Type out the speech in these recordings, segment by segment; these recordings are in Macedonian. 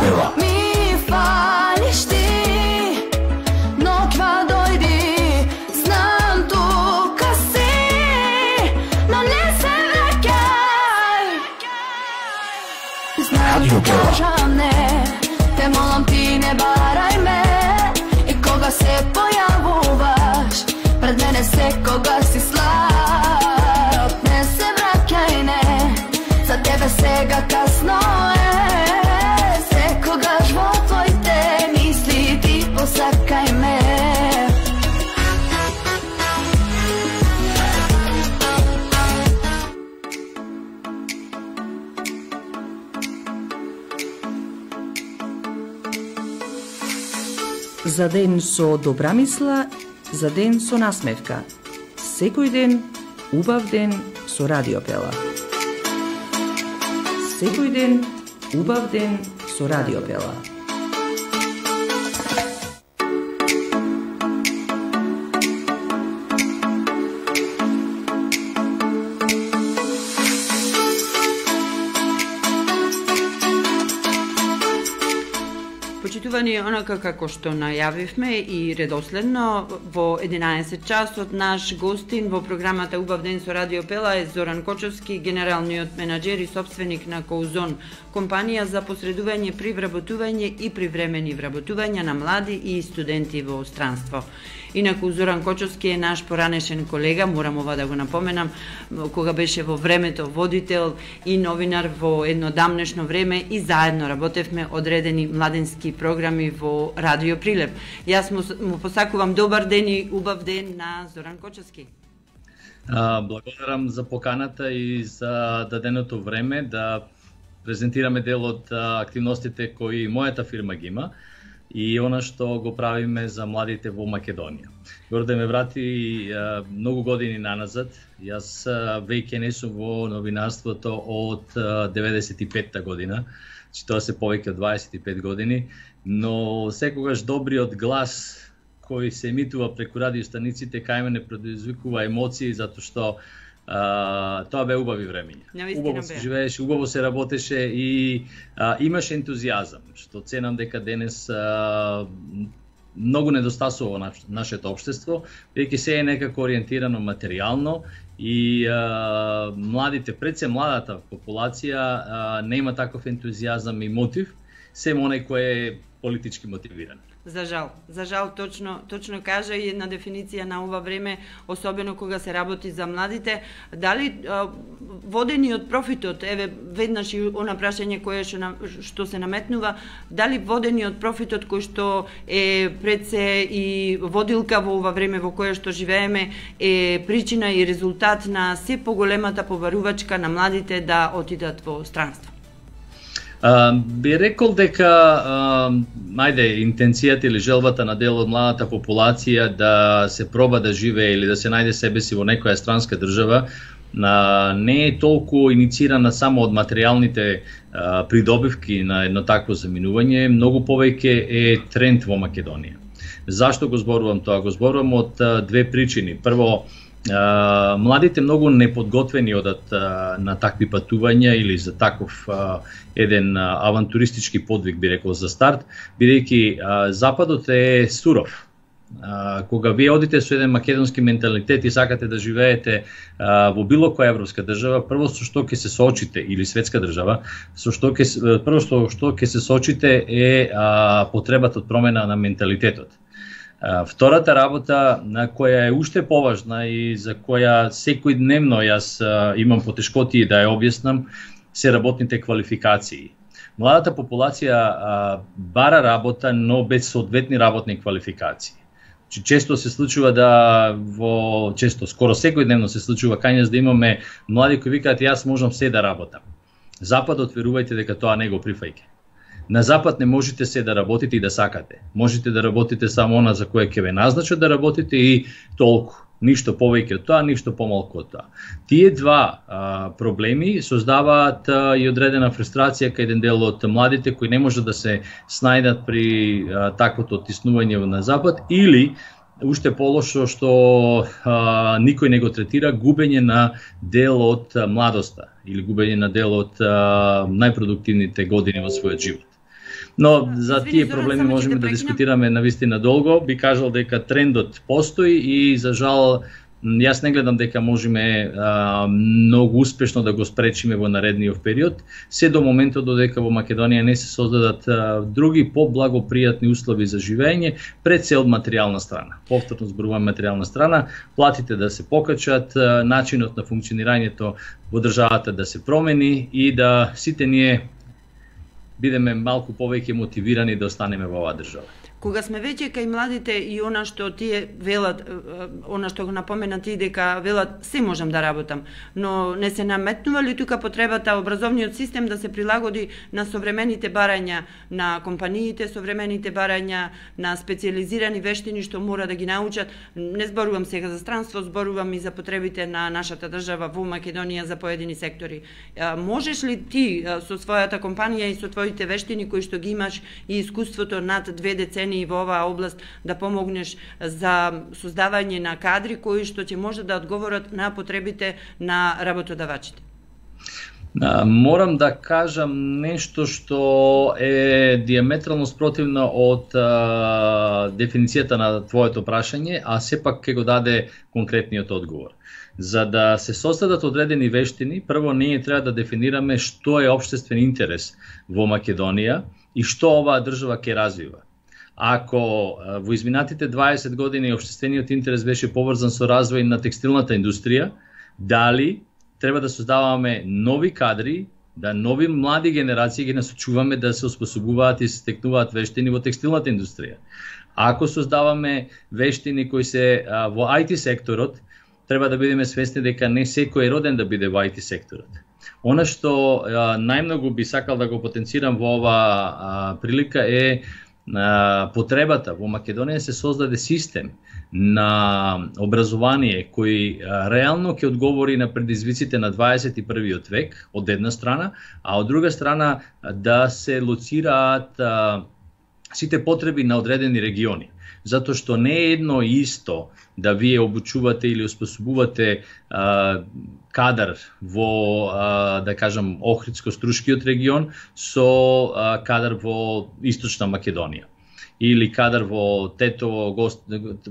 Pela. Mi fališ ti, nokva dojdi, znam tu ka si, no ne se vraćaj. Znam ti kažam ne, te molim ti ne varaj me, i koga se pojavuvaš, pred mene se koga si slab, ne se vraćaj ne, za tebe сега kasno je, se koga život tvoj te misli, ti posakaj me. За ден со добра мисла, за ден со насмевка. Секој ден, убав ден со Радио Пела. Секој ден, убав ден со Радио Пела. Почитувани, онака како што најавивме и редоследно, во 11 часот наш гостин во програмата Убав ден со Радио Пела е Зоран Кочовски, генералниот менаџер и сопственик на Коузон, компанија за посредување при вработување и привремени вработувања на млади и студенти во странство. Инаку Зоран Кочовски е наш поранешен колега, морам ова да го напоменам, кога беше во времето водител и новинар во едно дамнешно време и заедно работевме одредени младенски програми во Радио Прилеп. Јас му посакувам добар ден и убав ден на Зоран Кочовски. Благодарам за поканата и за даденото време да презентираме дел од активностите кои мојата фирма ги има и она што го правиме за младите во Македонија. Горде ме врати многу години наназад. Јас веќе не сум во новинарството од 95-та година, че тоа се повеќе од 25 години, но секогаш добриот глас кој се емитува преку радиостаниците кај мене предизвикува емоции, затоа што тоа бе убави времења. Убаво се живееше, убаво се работеше и имаше ентузијазам, што ценам дека денес многу недостасува во нашето општество, веќе се е некако ориентирано материјално и младите, пред се младата популација нема таков ентузијазам и мотив, се оној кој е политички мотивиран. За жал, точно кажа и една дефиниција на ова време, особено кога се работи за младите. Дали водени од профитот, еве веднаш и она прашање кое што се наметнува, дали водени од профитот кој што е пред се и водилка во ова време во кое што живееме е причина и резултат на се поголемата побарувачка на младите да отидат во странство? Би рекол дека интенцијата или желбата на дел од младата популација да се проба да живее или да се најде себе си во некоја странска држава не е толку инициирана само од материјалните придобивки на едно такво заминување, многу повеќе е тренд во Македонија. Зашто го зборувам тоа? Го зборувам од две причини. Прво, младите многу неподготвени одат на такви патувања или за таков еден авантуристички подвиг, би рекол, за старт, бидејќи Западот е суров. Кога вие одите со еден македонски менталитет и сакате да живеете во било која европска држава, прво со што ќе се соочите, или светска држава, прво што ќе се соочите е потребата од промена на менталитетот. Втората работа, на која е уште поважна и за која секојдневно јас имам потешкоти да ја објаснам, се работните квалификации. Младата популација бара работа, но без соодветни работни квалификации. Често се случува скоро секојдневно се случува кај нас да имаме млади кои викаат јас можам се да работам. Западот, верувајте дека тоа не го прифаќа. На Запад не можете се да работите и да сакате. Можете да работите само она за кое ќе ве назначат да работите и толку. Ништо повеќе од тоа, ништо помалку од тоа. Тие два проблеми создаваат и одредена фрустрација кај еден дел од младите кои не можат да се снајдат при таквото оттиснување на Запад или уште полошо што никој не го третира губење на дел од младоста или губење на дел од најпродуктивните години во својот живот. Но за тие проблеми можеме да дискутираме навистина долго. Би кажал дека трендот постои и за жал јас не гледам дека можеме многу успешно да го спречиме во наредниот период, се до моментот додека во Македонија не се создадат други поблагопријатни услови за живење, пред се од материјална страна. Повторно зборувам материјална страна, платите да се покачат, начинот на функционирањето во државата да се промени и да сите ние бидеме малку повеќе мотивирани да останеме во оваа држава. Кога сме веќе кај младите и она што тие велат, она што го напомена ти дека велат се можам да работам, но не се наметнува ли тука потребата образовниот систем да се прилагоди на современите барања на компаниите, современите барања на специјализирани вештини што мора да ги научат? Не зборувам сега за странство, зборувам и за потребите на нашата држава во Македонија за поедини сектори. Можеш ли ти со својата компанија и со твоите вештини кои што ги имаш и искуството над 2 децени и во оваа област да помогнеш за создавање на кадри кои што ќе може да одговорат на потребите на работодавачите? Морам да кажам нешто што е диаметрално спротивно од дефиницијата на твоето прашање, а сепак ќе го даде конкретниот одговор. За да се создадат одредени вештини, прво ние треба да дефинираме што е општествен интерес во Македонија и што оваа држава ќе развива. Ако во изминатите 20 години општествениот интерес беше поврзан со развој на текстилната индустрија, дали треба да создаваме нови кадри, да нови млади генерации ги насочуваме да се оспособуваат и се стекнуваат вештини во текстилната индустрија. Ако создаваме вештини кои се во IT секторот, треба да бидеме свесни дека не секој е роден да биде во IT секторот. Она што најмногу би сакал да го потенцирам во ова прилика е потребата во Македонија се создаде систем на образование кој реално ќе одговори на предизвиците на 21. век од една страна, а од друга страна да се лоцираат сите потреби на одредени региони. Затоа што не е едно исто да вие обучувате или оспособувате кадар во, да кажам, Охридско-Струшкиот регион со кадар во Источна Македонија. Или кадар во Тетово,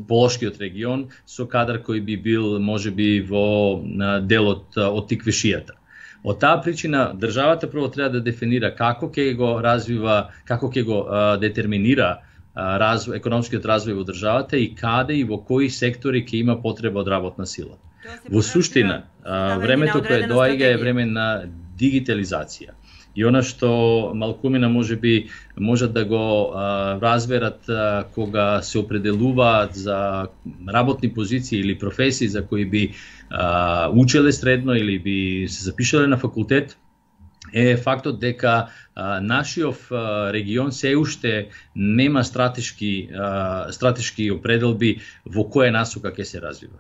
Полошкиот регион со кадар кој би бил можеби во делот од Тиквешијата. Од таа причина државата прво треба да дефинира како ќе го развива, како ќе го детерминира економскиот развој во државата и каде и во кои сектори ќе има потреба од работна сила. Во суштина, времето кое доаѓа е време на дигитализација. И она што малкумина можеби можат да го разберат кога се определуваат за работни позиции или професии за кои би учеле средно или би се запишале на факултет, е фактот дека нашиот регион се уште нема стратешки определби во која насока ќе се развива.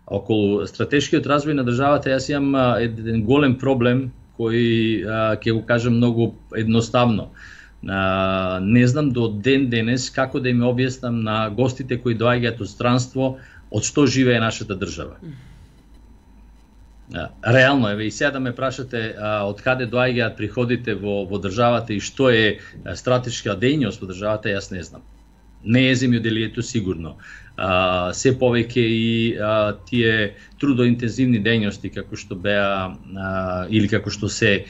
Околу стратешкиот развој на државата јас имам еден голем проблем кој ќе го кажам многу едноставно. Не знам до ден денес како да им објаснам на гостите кои доаѓаат од странство од што живее нашата држава. Реално е, и сега да ме прашате од каде доаѓаат приходите во државата и што е стратешка дејност во државата, јас не знам. Не е земјоделието сигурно. Се повеќе и тие трудоинтензивни дејности како што беа или како што се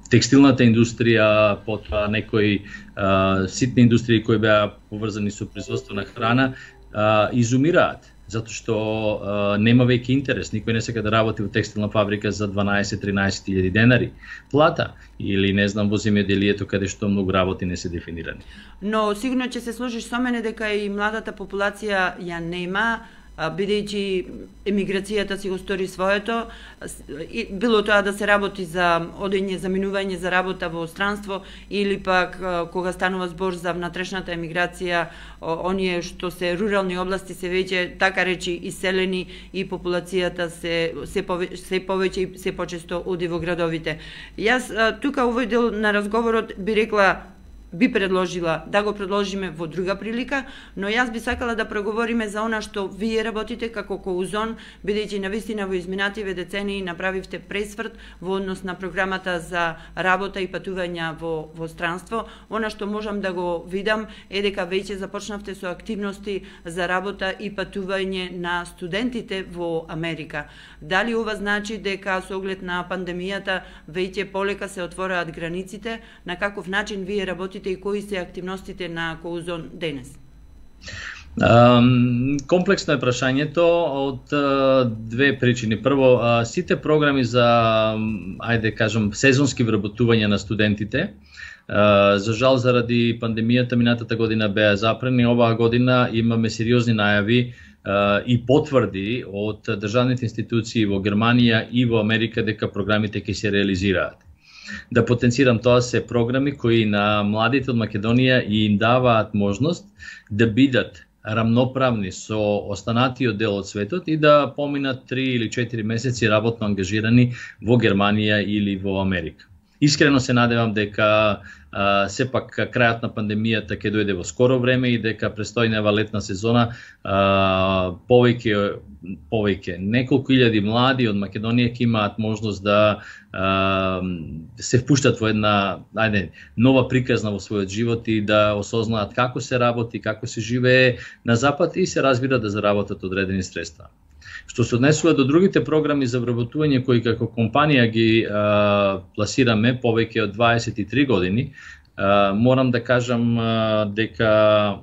текстилната индустрија, потоа некои ситни индустрии кои беа поврзани со производство на храна, изумираат. Затоа што нема веќе интерес, никој не сака да работи во текстилна фабрика за 12-13 илјади денари плата или не знам во земјоделието каде што многу работи не се дефинирани. Но сигурно ќе се сложиш со мене дека и младата популација ја нема, бидејќи емиграцијата си го стори своето, било тоа да се работи за одење, за минување за работа во странство, или пак кога станува збор за внатрешната емиграција, оние што се рурални области се веќе така речи иселени и популацијата се повеќе и се почесто оди во градовите. Јас тука овој дел на разговорот би рекла би предложила да го предложиме во друга прилика, но јас би сакала да проговориме за она што вие работите како Коузон, бидејќи навистина во изминативе децении направивте пресврт во однос на програмата за работа и патувања во странство. Она што можам да го видам е дека веќе започнавте со активности за работа и патување на студентите во Америка. Дали ова значи дека со оглед на пандемијата веќе полека се отвораат границите? На каков начин вие работите и кои се активностите на Коузон денес? Комплексно е прашањето од две причини. Прво, сите програми за, ајде кажам, сезонски вработување на студентите, за жал заради пандемијата минатата година беа запрени, оваа година имаме сериозни најави и потврди од државните институции во Германија и во Америка дека програмите ќе се реализираат. Да потенцирам, тоа се програми кои на младите од Македонија им даваат можност да бидат рамноправни со останатиот дел од светот и да поминат 3 или 4 месеци работно ангажирани во Германија или во Америка. Искрено се надевам дека сепак крајот на пандемијата ќе дојде во скоро време и дека престојнава летна сезона повеќе неколку илјади млади од Македонија ќе имаат можност да се впуштат во една нова приказна во својот живот и да осознаат како се работи, како се живее на запад и се разбира да заработат одредени средства. Што се однесува до другите програми за вработување кои како компанија ги пласираме повеќе од 23 години, морам да кажам дека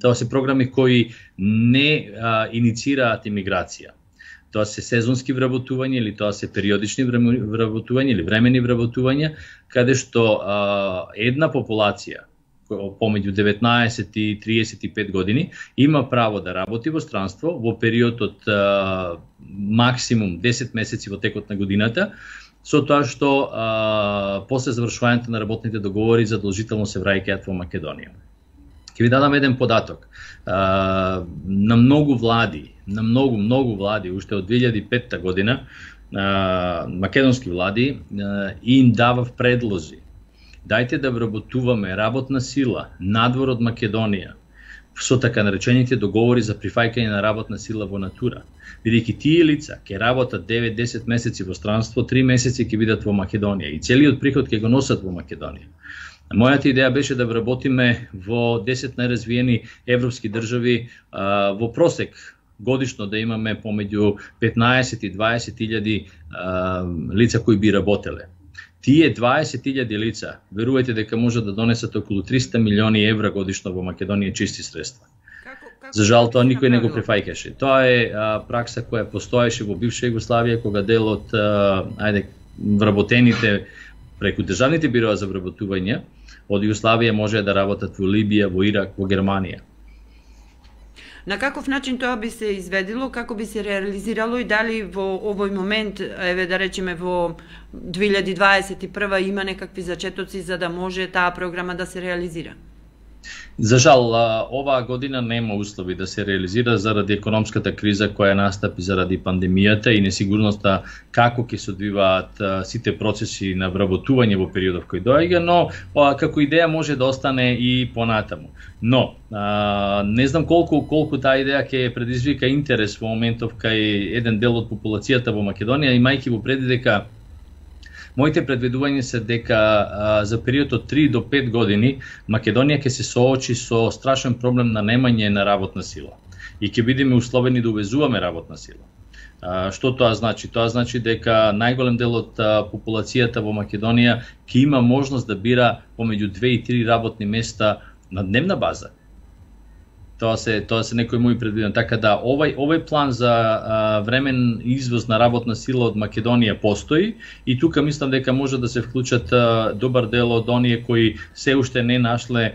тоа се програми кои не иницираат имиграција. Тоа се сезонски вработување или тоа се периодични вработувања или времени вработувања, каде што една популација помеѓу 19 и 35 години има право да работи во странство во период од максимум 10 месеци во текот на годината, со тоа што после завршувањето на работните договори задолжително се враќаат во Македонија. Ќе ви дадам еден податок. На многу влади, уште од 2005 година, македонски влади им давав предлози. Дајте да вработуваме работна сила надвор од Македонија со така наречените договори за прифаќање на работна сила во натура. Бидејќи тие лица ќе работат 9-10 месеци во странство, 3 месеци ќе бидат во Македонија и целиот приход ќе го носат во Македонија. Мојата идеја беше да вработиме во 10 најразвиени европски држави во просек годишно да имаме помеѓу 15 и 20 илјади лица кои би работеле. Тие 20.000 лица, верувајте дека може да донесат околу 300 милиони евра годишно во Македонија чисти средства. За жал тоа никој не го прифаќаше. Тоа е пракса која постоеше во бивша Југославија, кога дел од вработените преку државните бироа за вработување од Југославија може да работат во Либија, во Ирак, во Германија. На каков начин тоа би се изведило, како би се реализирало и дали во овој момент, еве да речеме во 2021 има некакви зачетоци за да може таа програма да се реализира? За жал, оваа година нема услови да се реализира заради економската криза која настапи заради пандемијата и несигурноста како ќе се одвиваат сите процеси на вработување во периодов кој доаѓа, но како идеја може да остане и понатаму. Но не знам колку таа идеја ќе предизвика интерес во моментов кај еден дел од популацијата во Македонија, имајќи во предвид дека моите предвидувања се дека за период од 3 до 5 години Македонија ќе се соочи со страшен проблем на немање на работна сила и ќе бидеме условени да увезуваме работна сила. Што тоа значи? Тоа значи дека најголем дел од популацијата во Македонија ќе има можност да бира помеѓу 2 и 3 работни места на дневна база. Тоа се некои мои предвидени. Така да овој план за времен извоз на работна сила од Македонија постои и тука мислам дека може да се вклучат добар дел од оние кои се уште не нашле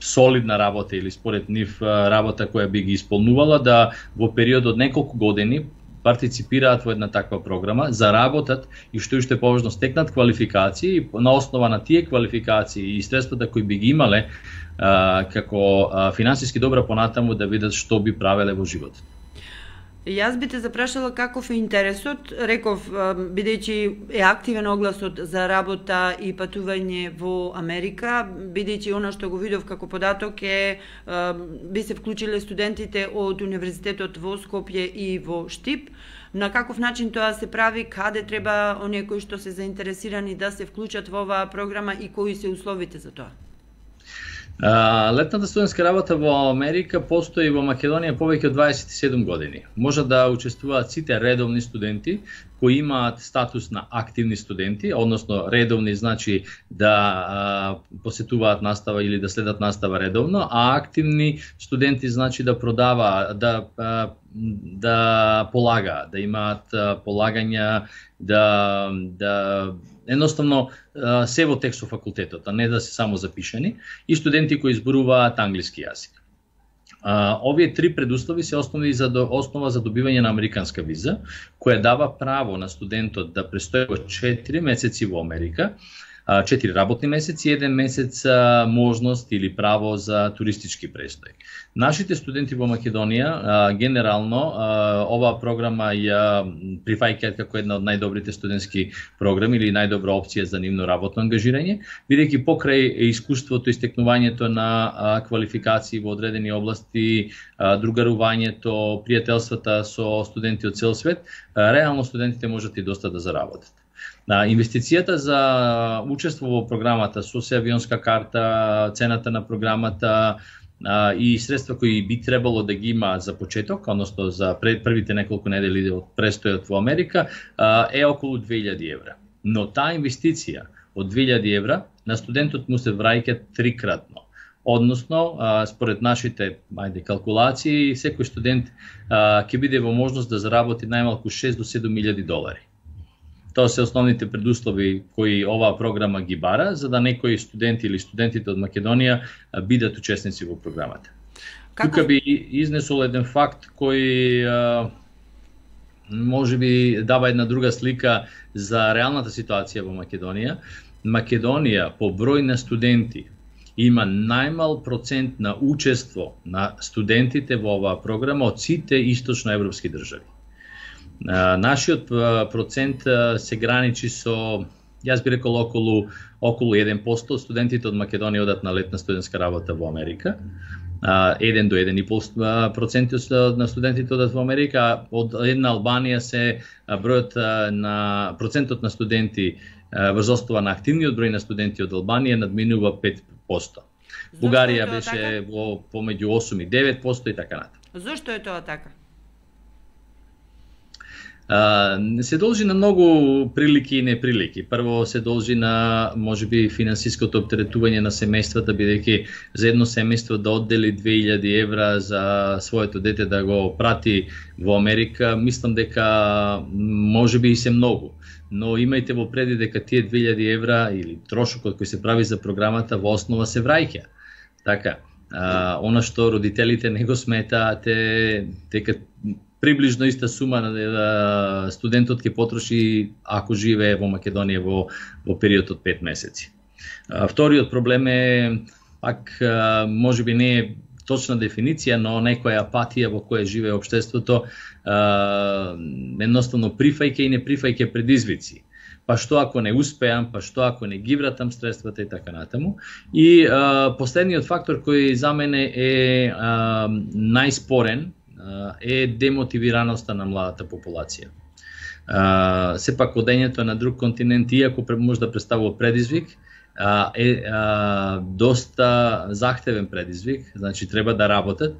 солидна работа или според нив работа која би ги исполнувала, да во период од неколку години партиципираат во една таква програма, заработат и што уште поважно стекнат квалификации и на основа на тие квалификации и средствата кои би ги имале како финансиски добра понатаму да видат што би правеле во животот. Јас би те запрашала каков е интересот, реков, бидејќи е активен огласот за работа и патување во Америка, бидејќи она што го видов како податок е, би се вклучиле студентите од Универзитетот во Скопје и во Штип. На каков начин тоа се прави, каде треба оние кои што се заинтересирани да се вклучат во оваа програма и кои се условите за тоа? Летната студентска работа во Америка постои во Македонија повеќе од 27 години. Може да учествуваат сите редовни студенти кои имаат статус на активни студенти, односно редовни значи да посетуваат настава или да следат настава редовно, а активни студенти значи да продаваат, да полагаат, да имаат полагања, да едноставно се во текст со факултетот, а не да се само запишани, и студенти кои зборуваат англиски јазик. Овие три предуслови се основа за добивање на американска виза, која дава право на студентот да престои 4 месеци во Америка, 4 работни месеци и 1 месец можност или право за туристички престој. Нашите студенти во Македонија, генерално, оваа програма ја прифаќаат како една од најдобрите студентски програми или најдобра опција за нивно работно ангажирање, бидејќи покрај искуството и стекнувањето на квалификации во одредени области, другарувањето, пријателствата со студенти од цел свет, реално студентите можат и доста да заработат. Инвестицијата за учество во програмата со авионска карта, цената на програмата и средства кои би требало да ги има за почеток, односно за првите неколку недели од престојот во Америка, е околу 2000 евра. Но таа инвестиција од 2000 евра на студентот му се враќа трикратно. Односно, според нашите калкулации, секој студент ќе биде во можност да заработи најмалку 6 до 7.000 долари. Тоа се основните предуслови кои оваа програма ги бара, за да некои студенти или студентите од Македонија бидат учесници во програмата. Тука би изнесол еден факт кој може би дава една друга слика за реалната ситуација во Македонија. Македонија по број на студенти има најмал процент на учество на студентите во оваа програма од сите источноевропски држави. Нашиот процент се граничи со, јас би рекол, околу 1% студентите од Македонија одат на летна студентска работа во Америка. 1 до 1,5% на студентите одат во Америка, од една Албанија се бројот на процентот на студенти врз основа на активниот број на студенти од Албанија надминува 5%. Бугарија беше во помеѓу 8 и 9% и така натаму. Зошто е тоа така? Се должи на многу прилики и неприлики. Прво се должи на можеби финансиското оптеретување на семејствата, бидејќи за едно семејство да оддели 2000 евра за своето дете да го прати во Америка, мислам дека можеби и се многу. Но имајте во преди дека тие 2000 евра или трошокот кој се прави за програмата во основа се враќа. Така, она што родителите не го сметаат е дека приближно иста сума на студентот ќе потроши ако живее во Македонија во период од 5 месеци. Вториот проблем е, пак можеби не е точна дефиниција, но некоја апатија во која живее општеството, едноставно прифаќа и не прифаќа предизвици. Па што ако не успеам, па што ако не ги вратам средствата и така натаму. И последниот фактор кој за мене е најспорен е демотивираноста на младата популација. Сепак одењето на друг континент, иако може да представува предизвик, е доста захтевен предизвик, значи треба да работат.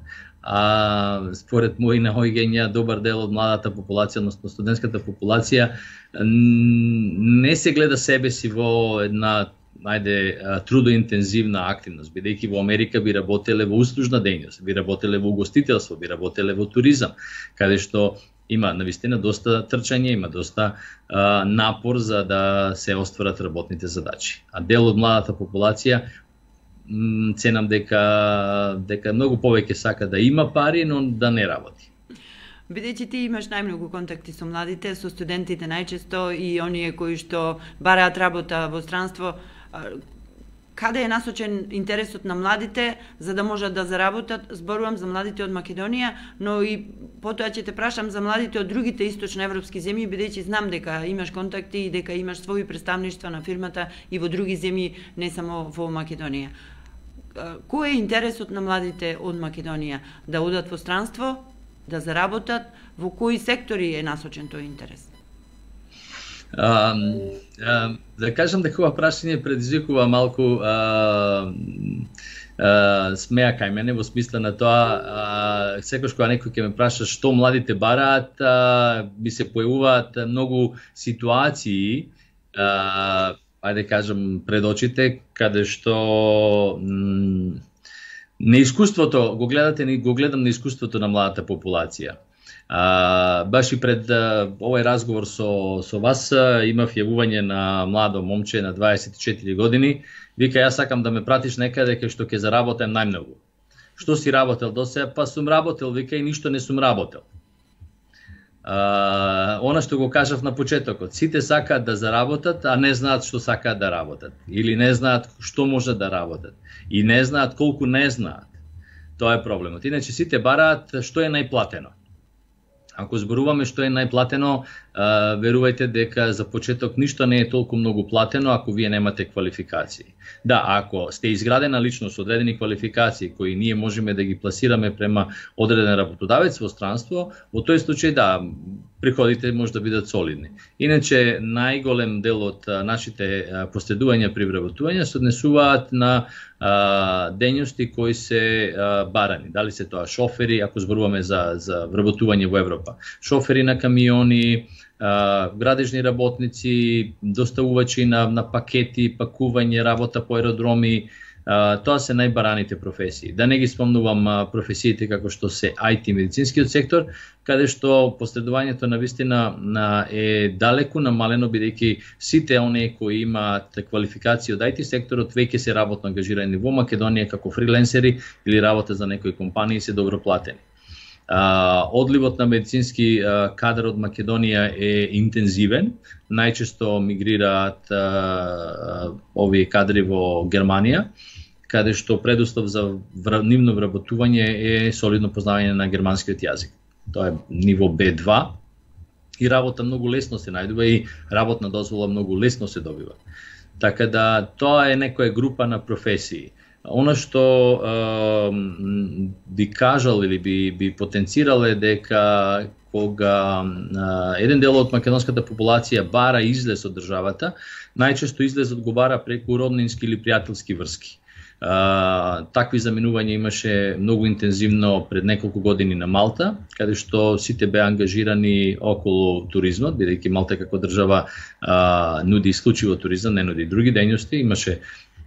Според мои наоѓања, добар дел од младата популација, односно студентската популација, не се гледа себе си во една трудоинтензивна активност, бидејќи во Америка би работеле во услужна дејност, би работеле во угостителство, би работеле во туризам, каде што има навистина доста трчање, има доста напор за да се остварат работните задачи. А дел од младата популација ценам дека многу повеќе сака да има пари, но да не работи. Бидејќи ти имаш најмногу контакти со младите, со студентите најчесто и оние кои што бараат работа во странство, каде е насочен интересот на младите за да можат да заработат? Зборувам за младите од Македонија, но и потоа ќе те прашам за младите од другите источноевропски земји, бидејќи знам дека имаш контакти и дека имаш своји представништва на фирмата и во други земји, не само во Македонија. Кој е интересот на младите од Македонија? Да одат во странство, да заработат? Во кои сектори е насочен тој интерес? Да кажам дека ова прашање предизвикува малку смеа кај мене, во смисла на тоа, секогаш кога некој ќе ме праша што младите бараат, би се појавуваат многу ситуации, ајде кажам пред очите, каде што неискуството, го гледам неискуството на младата популација. Баш и пред овој разговор со вас имав јавување на младо момче на 24 години. Вика, јас сакам да ме пратиш некаде кај што ќе заработам најмногу. Што си работел до сега? Па сум работел, вика, и ништо не сум работел. Она што го кажав на почетокот, сите сакаат да заработат, а не знаат што сакаат да работат. Или не знаат што може да работат. И не знаат колку не знаат. Тоа е проблемот. Иначе сите бараат што е најплатено. Ако зборуваме што е најплатено, верувајте дека за почеток ништо не е толку многу платено ако вие немате квалификации. Да, ако сте изградена личност, одредени квалификации кои ние можеме да ги пласираме према одреден работодавец во странство, во тој случај да, приходите може да бидат солидни. Иначе најголем дел од нашите последувања при вработување се однесуваат на дејности кои се барани. Дали се тоа шофери, ако зборуваме за вработување во Европа. Шофери на камиони, градежни работници, доставувачи на пакети, пакување, работа по аеродроми, тоа се најбараните професии. Да не ги спомнувам професиите како што се IT медицинскиот сектор, каде што последувањето на вистина е далеку намалено, бидејќи сите оние кои имаат квалификација од IT секторот веќе се работно ангажирани во Македонија како фриленсери или работа за некои компании се добро платени. Одливот на медицински кадар од Македонија е интензивен. Најчесто мигрираат овие кадри во Германија, каде што предуслов за нивно вработување е солидно познавање на германскиот јазик. Тоа е ниво B2 и работа многу лесно се најдува и работна дозвола многу лесно се добива. Така да тоа е некоја група на професии. Она што би кажал или би потенцирал е дека кога еден дел од македонската популација бара излез од државата, најчесто излезот го бара преку роднински или пријателски врски. Такви заминувања имаше многу интензивно пред неколку години на Малта, каде што сите беа ангажирани околу туризмот, бидејќи Малта како држава нуди исклучиво туризам, не нуди други дејности. Имаше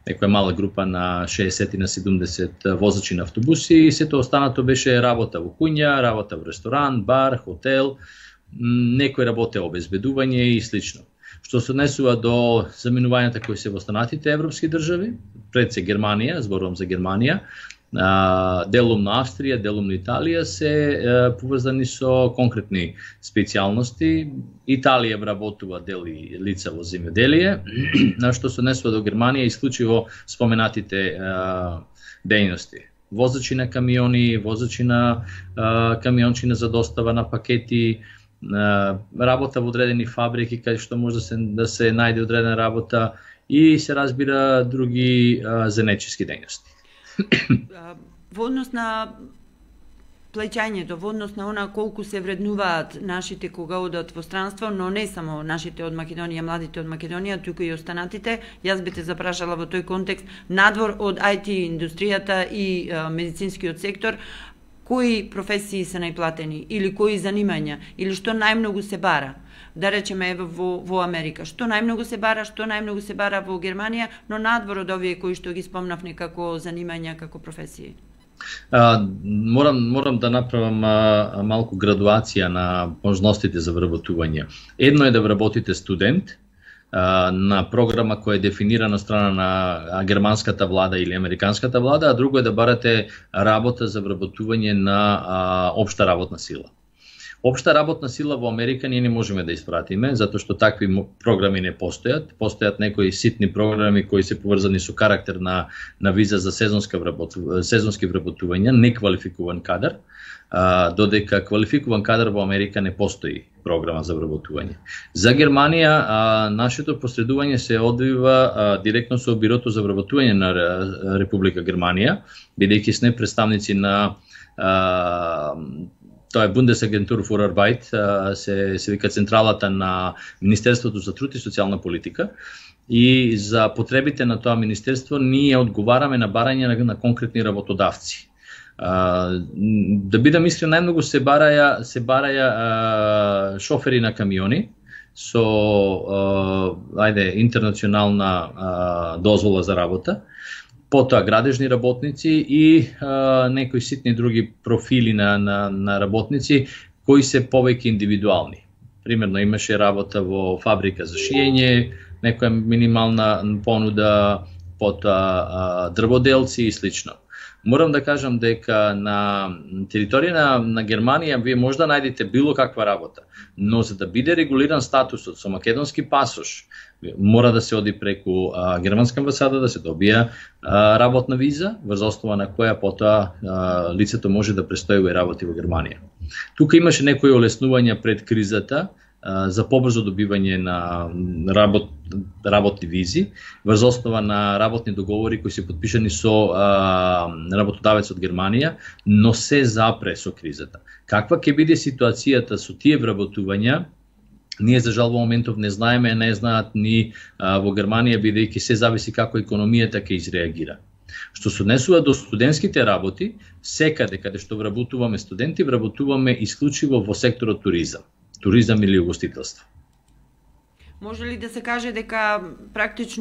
некоја мала група на 60 и на 70 возачи на автобуси и сето останато беше работа во куња, работа во ресторан, бар, хотел, некој работе обезбедување и слично. Што се однесува до заминувањата кои се во останатите европски држави, пред се Германија, зборувам за Германија, делум на Австрија, делум на Италија се поврзани со конкретни специјалности. Италија вработува дели лица во земјоделие, на што се однесува до Германија исклучиво споменатите дејности. Возачи на камиони, возачи на камиончина за достава на пакети, работа во одредени фабрики каде што може да се најде одредена работа и се разбира други занечиски дејности. Во однос на плеќањето, во однос на она колку се вреднуваат нашите кога одат во странство, но не само нашите од Македонија, младите од Македонија, туку и останатите, јас би те запрашала во тој контекст, надвор од IT индустријата и медицинскиот сектор, кои професии се најплатени или кои занимања или што најмногу се бара? Да речеме во Америка, што најмногу се бара, што најмногу се бара во Германија, но надвор од овие кои што ги спомнавме како занимања, како професии? Морам да направам малку градуација на можностите за вработување. Едно е да вработите студент на програма која е дефинирана од страна на германската влада или американската влада, а друго е да барате работа за вработување на општа работна сила. Општа работна сила во Америка ние не можеме да испратиме, затоа што такви програми не постојат. Постојат некои ситни програми кои се поврзани со карактер на виза за сезонски вработување, неквалификуван кадар, додека квалификуван кадар во Америка не постои програма за вработување. За Германија, нашето посредување се одвива директно со Бирото за вработување на Република Германија, бидејќи сме представници на тоа е Bundesagentur für Arbeit, се вика централата на Министерството за труд и социјална политика, и за потребите на тоа министерство ние одговараме на барање на конкретни работодавци. Да бидам искрен, најмногу се бараја шофери на камиони со интернационална дозвола за работа, потоа градежни работници и некои ситни други профили на работници кои се повеќе индивидуални. Примерно имаше работа во фабрика за шиење, некоја минимална понуда, потоа дрводелци и слично. Морам да кажам дека на територија на Германија вие може да најдете било каква работа, но за да биде регулиран статусот со македонски пасош, мора да се оди преку германска амбасада, да се добија работна виза, врз основа на која потоа лицето може да престојува и работи во Германија. Тука имаше некои олеснувања пред кризата за побрзо добивање на работни визи, врз основа на работни договори кои се подпишани со работодавец од Германија, но се запре со кризата. Каква ќе биде ситуацијата со тие вработувања, ние за жал во моментов не знаеме, не знаат ни во Германија, бидејќи се зависи како економијата ќе изреагира. Што се однесува до студентските работи, секаде каде што вработуваме студенти, вработуваме исклучиво во секторот туризам или угостителство. Може ли да се каже дека практично